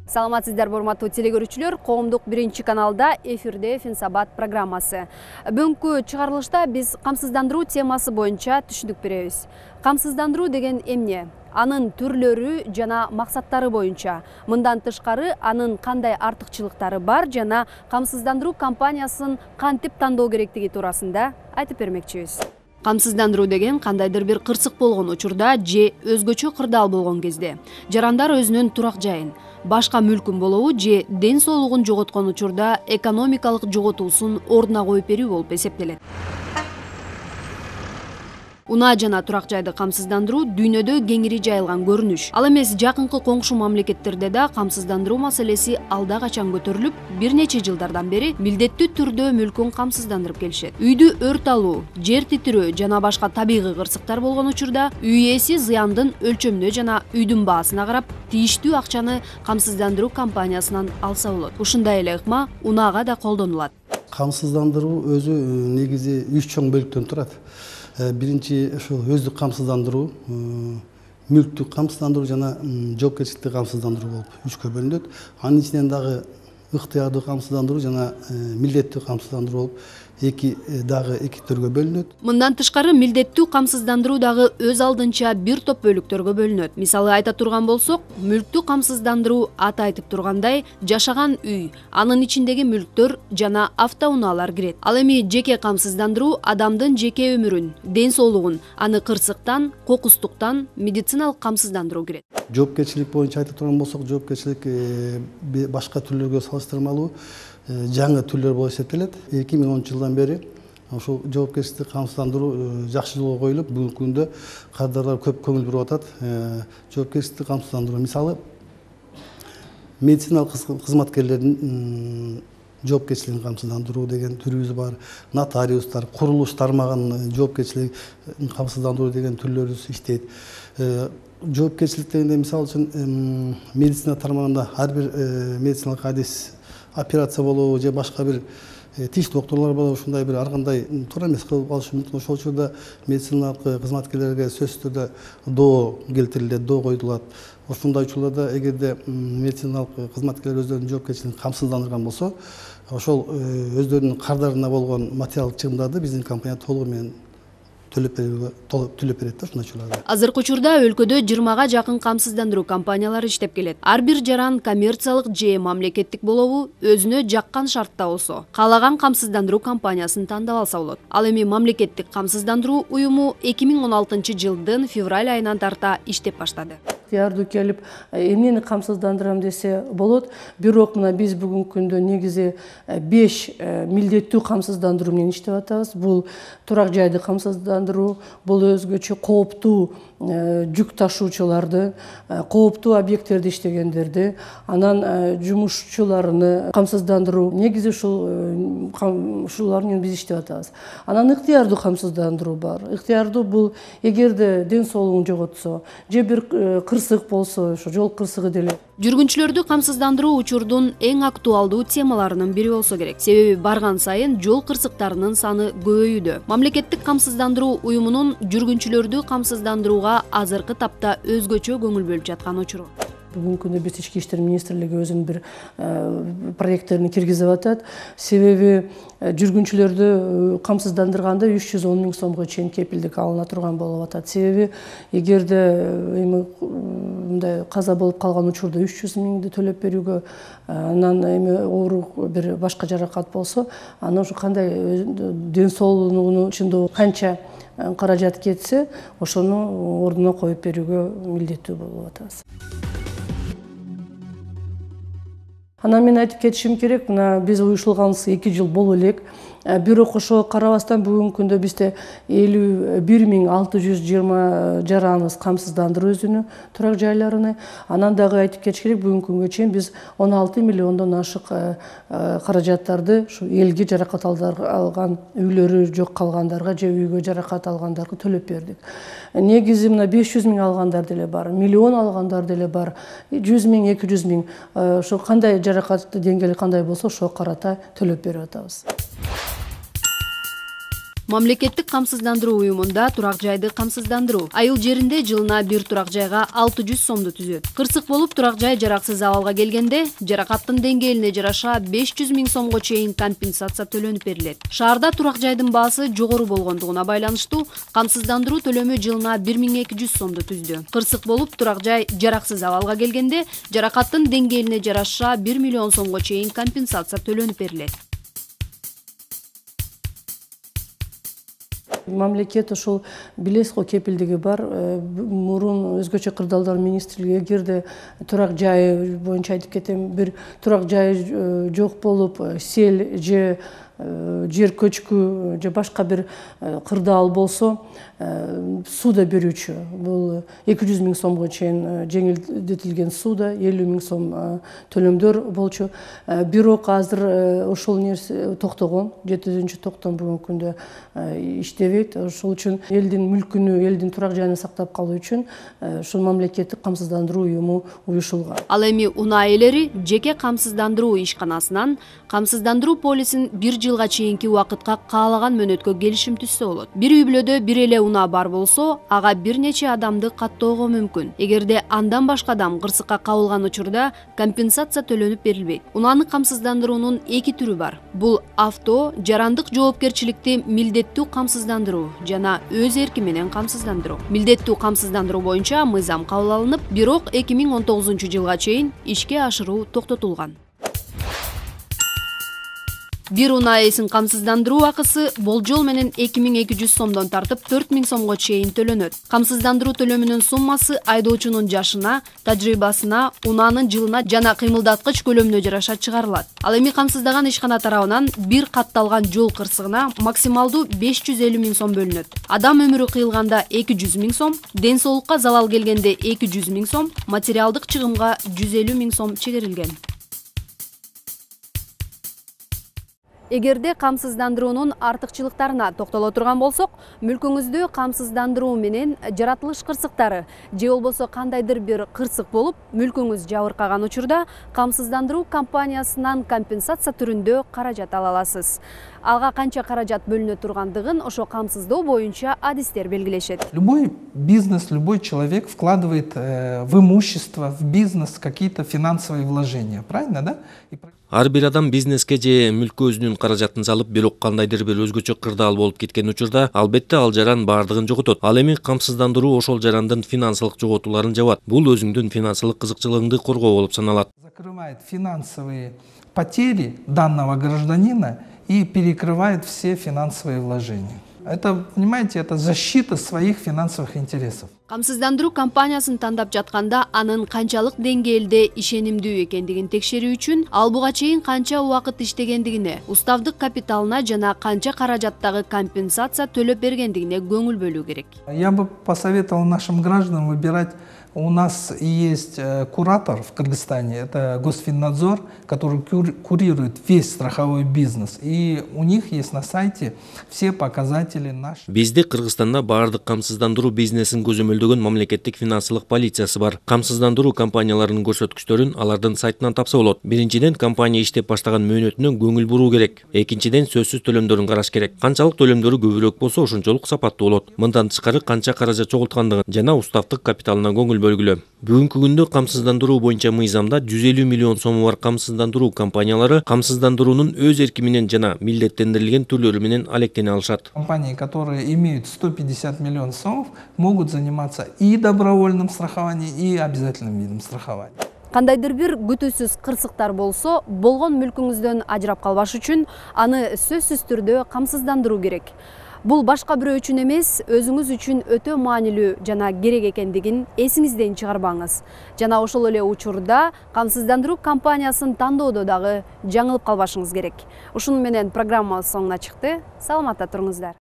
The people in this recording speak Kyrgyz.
Саламатсыздар, урматтуу телекөрүүчүлөр. Коомдук 1-каналда эфирде Финсабат программасы. Бүгүнкү чыгарылышта биз камсыздандыруу темасы боюнча түшүндүк беребиз. Камсыздандыруу деген эмне? Анын түрлөрү жана максаттары боюнча, мындан тышкары анын кандай артыкчылыктары бар жана камсыздандыруу компаниясын кантип тандоо керектиги туурасында айтып бермекчибиз. Камсыздандыруу деген кандайдыр бир кырсык болгон учурда же өзгөчө кырдаал болгон кезде жарандар өзүнүн турак жайын, башка мүлкүн болобу же ден соолугун жоготкон учурда экономикалык жоготуусун ордуна коюп берүү болуп эсептелет. Унаа жана турак жайды камсыздандыруу дүйнөдө кеңири жайылган көрүнүш. Ал эмес жакынкы коңшу мамлекеттерде да камсыздандыруу маселеси алда качан көтөрүлүп, бир нече жылдардан бери милдеттүү түрдө мүлкүн камсыздандырып келишет. Үйдү өрт алуу, жер титирөө жана башка табигый кырсыктар болгон учурда үй ээси зыяндын өлчөмүнө жана үйдүн баасына карап тийиштүү акчаны камсыздандыруу компаниясынан алса болот. Ушундай эле ыкма унаага да колдонулат. Камсыздандыруу өзү негизи 3 чоң бөлүктөн турат. Биринчи ошол өздүк камсыздандыруу, мүлктүк камсыздандыруу жана жоопкерчиликтик камсыздандыруу болуп 3кө бөлүнөт. Анын ичинен дагы ыктыярдуу камсыздандыруу жана милдеттүү камсыздандыруу болуп эки түргө бөлүнөт. Мындан тышкары милдеттүү камсыздандыруу дагы өз алдынча бир топ бөлүктөргө бөлүнөт. Мисалы айта турган болсок, мүлктүү камсыздандыруу аты айтып тургандай жашаган үй, анын ичиндеги мүлктөр жана автоунаалар кирет. Ал эми жеке камсыздандыруу адамдын жеке өмүрүн, ден соолугун, аны кырсыктан, кокустуктан медициналык камсыздандыруу кирет. Жоопкерчилик боюнча айта турган болсок, жоопкерчилик башка түрлөргө салыштырмалуу жаңы түрлөр болуп эсептелет. 2010-жылдан бери ошол жоопкерчиликтик камсыздандыруу жакшы жолго коюлуп, бүгүнкү күндө кадрлар көп көңүл буруп атат. Жоопкерчиликтик камсыздандыруу мисалы медициналык кызматкерлердин жоопкерчилигин камсыздандыруу деген түрүбүз бар. Нотариустар, курулуш тармагын жоопкерчилигин камсыздандыруу деген түрлөрүбүз иштейт. Жоопкерчилик дегенде мисалы үчүн медицина тармагында ар бир медициналык адис, операция болобу же башка бир тиш докторлор болобу, ушундай бир ар кандай туура эмес кылып калышы мүмкүн. Ошол учурда медициналык кызматкерлерге сөзсүз түрдө доо келтирилет, доо коюлат. Ошондой учурларда эгерде медициналык кызматкерлер өздөрүнүн жоопкерчилигин камсыздандырган болсо, ошол өздөрүнүн кардарына болгон материалдык чыгымдарды биздин компания толугу менен төлөп берет да ушундай учурларда. Азыркы учурда өлкөдө 20га жакын камсыздандыруу компаниялары иштеп келет. Ар бир жаран коммерциялык же мамлекеттик болобу, өзүнө жаккан шартта болсо, каалаган камсыздандыруу компаниясын тандап алса болот. Ал эми мамлекеттик камсыздандыруу уюму 2016-жылдын февраль айынан тарта иштеп баштады. Ыктыярдуу келип, эмнени камсыздандырам десе болот. Бирок мына биз бүгүнкү күндө негизи 5 милдеттүү камсыздандыруу менен иштеп атабыз. Бул турак жайды камсыздандыруу, бул өзгөчө кооптуу жүк ташуучуларды, кооптуу объекттерде иштегендерди, анан жумушчуларыны камсыздандыруу. Негизи ушулар менен биз иштеп атабыз. Анан ыктыярдуу камсыздандыруу бар. Ыктыярдуу бул эгерде ден соолугун жоготсо, же бир кырсык болсо, ошо жол кырсыгы деле. Жүргүнчүлөрдү камсыздандыруу учурдун эң актуалдуу темаларынын бири болсо керек. Себеби барган сайын жол кырсыктарынын саны көбөйүүдө. Мамлекеттик камсыздандыруу уюмунун жүргүнчүлөрдү камсыздандырууга азыркы тапта өзгөчө көңүл бөлүп жаткан учуру. Бүгүнкү күндө биз Ички иштер министрлиги өзүнүн бир проекттерин киргизип атат. Себеби жүргүнчүлөрдү камсыздандырганда 310 миң сомго чейин кепилдик алына турган болуп атат. Себеби эгерде эми мындай каза болуп калган учурда 300 миңди төлөп берүүгө, анан эми оору бир башка жаракат болсо, анан ошо кандай ден соолугунун ичинде канча каражат кетсе, ошону ордуна коюп берүүгө милдеттүү болуп атабыз. Анан мен айтып кетишим керек, мына биз уюшулганыбызга 2 жыл боло элек. Бирок ошого карабастан бүгүнкү күндө бизде 51.620 жараныбыз камсыздандыруу өзүнүн турак жайларыны. Анан дагы айтып кетиш керек, бүгүнкү күнгө чейин биз 16 миллиондон ашык каражаттарды ушу элге жаракат алган, үйлөрү жок калгандарга же үйгө жаракат алгандарга төлөп бердик. Негизи мына 500 миң алгандар деле бар, миллион алгандар деле бар, 100 миң, 200 миң. Ошо кандай жаракат деңгээли кандай болсо, ошого карата төлөп берип атабыз. Мамлекеттик камсыздандыруу уюмунда турак жайды камсыздандыруу. Айыл жеринде жылына бир турак жайга 600 сомду түзөт. Кырсык болуп турак жай жараксыз абалга келгенде жаракаттын деңгээлине жараша 500 000 сомго чейин компенсация төлөнүп берилет. Шаарда турак жайдын баасы жогору болгондугуна байланыштуу камсыздандыруу төлөмү жылына 1200 сомду түздү. Кырсык болуп турак жай жараксыз абалга келгенде жаракаттын деңгээлине жараша 1 миллион сомго чейин компенсация төлөнүп берилет. Мамлекет ошол билесиз го кепилдиги бар. Мурун өзгөчө кырдаалдар министрлиги эгерде турак жайы боюнча айтып кетем, бир турак жайы жок болуп, сел же жер көчкү же башка бир кырдаал болсо сууда берүүчү бул 200 000 сомго чейин жеңилдетилген сууда 50 000 сом төлөмдөр болчу. Бирок азыр ошол нерсе токтогон, 7-токтом бүгүнкү күндө иштебейт. Ошол үчүн элдин мүлкүнү, элдин турак жайын сактап калуу үчүн ушул мамлекеттик камсыздандыруу уюму уюшулган. Ал эми унаа ээлери жеке камсыздандыруу ишканасынан камсыздандыруу полисин 1 жылга чейинки убакытка каалаган мөөнөткө келишим түзсө болот. Бир үй бүлөдө бир эле унаа бар болсо, ага бир нече адамды каттоого мүмкүн. Эгерде андан башка адам кырсыкка кабылган учурда компенсация төлөнүп берилбейт. Унааны камсыздандыруунун 2 түрү бар. Бул авто, жарандык жоопкерчиликти милдеттүү камсыздандыруу жана өз эрки менен камсыздандыруу. Милдеттүү камсыздандыруу боюнча мыйзам кабыл алынып, бирок 2019-жылга чейин ишке ашыруу токтотулган. Бир унаа ээсин камсыздандыруу акысы болжол менен 2200 сомдон тартып 4000 сомго чейин төлөнөт. Камсыздандыруу төлөмүнүн суммасы айдоочунун жашына, тажрыйбасына, унаанын жылына жана кыймылдаткыч көлөмүнө жараша чыгарылат. Ал эми камсыздаган ишкана тарабынан бир катталган жол кырсыгына максималдуу 550 000 сом бөлүнөт. Адам өмүрү кыйылганда 200 000 сом, ден соолукка залал келгенде 200 000 сом, материалдык чыгымга 150 000 сом чегерилген. Эгерде камсыздандыруунун артыкчылыктарына токтоло турган болсок, мүлкүңүздө камсыздандыруу менен жаратылыш кырсыктары же болбосо кандайдыр бир кырсык болуп, мүлкүңүз жабыркаган учурда камсыздандыруу компаниясынан компенсация түрүндө каражат ала аласыз. Ага канча каражат бөлүнө тургандыгын ошо камсыздоо боюнча адистер белгилешет. Любой бизнес, любой человек вкладывает в имущество, в бизнес какие-то финансовые вложения, правильно, да? Ар бир адам бизнеске же мүлккө өзүнүн каражатын салып, бирок кандайдыр бир өзгөчө кырдаал болуп кеткен учурда, албетте ал жаран баардыгын жоготот. Ал эми камсыздандыруу ошол жарандын финансылык жоготууларын жабат. Бул өзүңдүн финансылык кызыкчылыгыңды коргоо болуп саналат. Закрывает финансовые потери данного гражданина и перекрывает все финансовые вложения. Это, понимаете, это защита своих финансовых интересов. Камсыздандыруу компаниясын тандап жатканда анын канчалык деңгээлде ишенимдүү экендигин текшерүү үчүн ал буга чейин канча убакыт иштегендигине, уставдык капиталына жана канча каражаттагы компенсация төлөп бергендигине көңүл бөлүү керек. Я бы посоветовал нашим гражданам выбирать. У нас есть куратор в Кыргызстане, это Госфиннадзор, который курирует весь страховой бизнес. И у них есть на сайте все показатели наши. Бизде Кыргызстанда баардык камсыздандыруу бизнесин көзөмөлдөгөн мамлекеттик финансылык полициясы бар. Камсыздандыруу компанияларынын көрсөткүчтөрүн алардын сайтынан тапса болот. Биринчиден, компания иштеп баштаган мөөнөтүнө көңүл буруу керек. Экинчиден, сөзсүз төлөмдөрүн караш керек. Канчалык төлөмдөрү көбүрөөк болсо, ошончолук сапаттуу болот. Мындан тышкары канча каражат чогулткандыгын жана уставдык капиталына көңүл бөлгүлө. Бүгүнкү күндө камсыздандыруу боюнча мыйзамда 150 миллион сому бар камсыздандыруу компаниялары камсыздандыруунун өз эрки менен жана милдеттендирилген түрлөрү менен алектене алышат. Компании, которые имеют 150 миллионов сомов, могут заниматься и добровольным страхованием, и обязательным видом страхования. Кандайдыр бир күтүүсүз кырсыктар болсо, болгон мүлкүңүздөн ажырап калбаш үчүн аны сөзсүз түрдө камсыздандыруу керек. Бул башка бирөө үчүн эмес, өзүңүз үчүн өтө маанилүү жана керек экендигин эсиңизден чыгарбаңыз. Жана ошол эле учурда камсыздандыруу компаниясын тандоодо дагы жаңылып калбашыңыз керек. Ушуну менен программа соңуна чыкты. Саламатта туруңуздар.